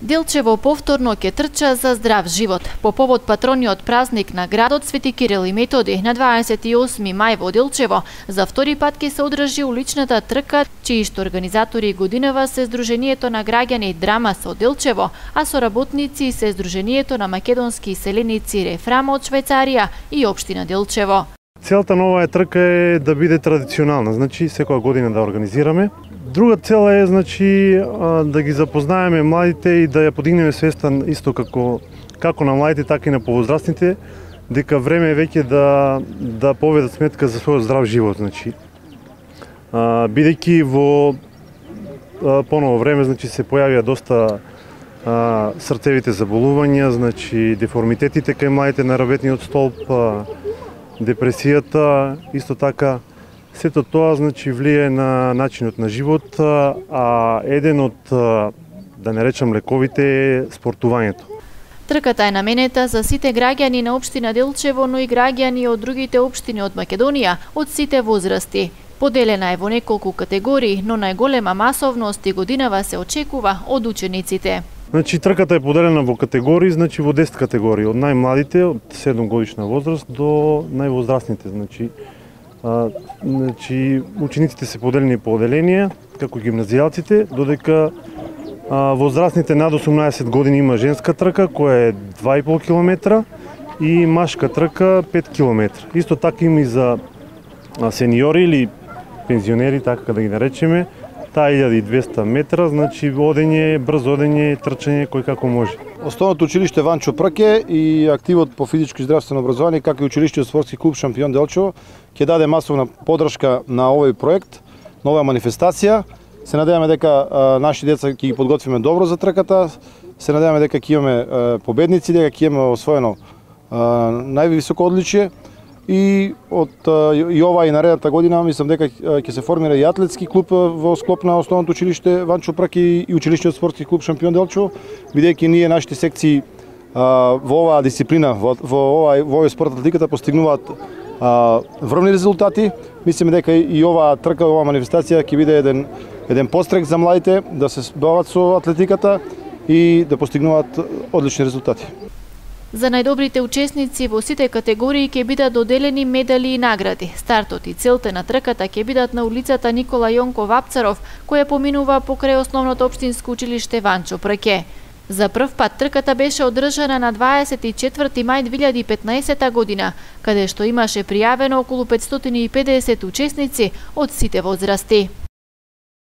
Делчево повторно ќе трча за здрав живот. По повод патрониот празник на градот Свети Кирил и Методи на 28 мај во Делчево, за втори пат ќе се одржи уличната трка, чиишто организатори годинава се Сдруженијето на граѓани Драма со Делчево, а соработници се Сдруженијето на македонски иселеници Рефрама од Швајцарија и општина Делчево. Целта на оваа трка е да биде традиционална, значи секоја година да организираме. Друга цел е да ги запознаеме младите и да ја подигнеме свеста исто како на младите, така и на повозрастните, дека време е веќе да поведат сметка за својот здрав живот, бидејќи во поново време се појавија доста срцевите заболувања, деформитетите кај младите на работниот столб, депресијата, исто така сето тоа влие на начинот на живот, а еден од, да не речам лековите, е спортувањето. Трката е наменета за сите граѓани на општина Делчево, но и граѓани од другите општини од Македонија, од сите возрасти. Поделена е во неколку категории, но најголема масовност и годинава се очекува од учениците. Трката е поделена во категории, во 10 категории, од најмладите, од 7 годишна возраст до највозрастните. Учениците се поделени по оделенија, како гимназијалците, додека возрастните над 18 години има женска трка, која е 2,5 км и машка трка 5 км. Исто така има и за сениори или пензионери, така да ги наречеме, таа 1200 метра, одење, брзо одење, трчање, кој како може. Основното училиште Ванчо Прке и активот по физичко и здравствено образование, како и училиштето спортски клуб Шампион Делчево, ќе даде масовна подршка на овој проект, на оваа манифестација. Се надеваме дека наши деца ќе ги подготвиме добро за трката, се надеваме дека ќе имаме победници, дека ќе имаме освоено највисоко одличие. И ова и наредната година мислам дека ќе се формира и атлетски клуб во склоп на основното училиште Ванчо Прке и училиштето спортски клуб Шампион Делчево, бидејќи ние нашите секции во оваа дисциплина, во овој спорт атлетиката постигнуваат врвни резултати. Мислиме дека и оваа трка, оваа манифестација ќе биде еден пострек за младите да се бават со атлетиката и да постигнуваат одлични резултати. За најдобрите учесници во сите категории ќе бидат доделени медали и награди. Стартот и целта на трката ќе бидат на улицата Никола Јонко Вапцаров, која поминува покрај основното општинско училиште Ванчо Прке. За прв пат трката беше одржана на 24 мај 2015 година, каде што имаше пријавено околу 550 учесници од сите возрасти.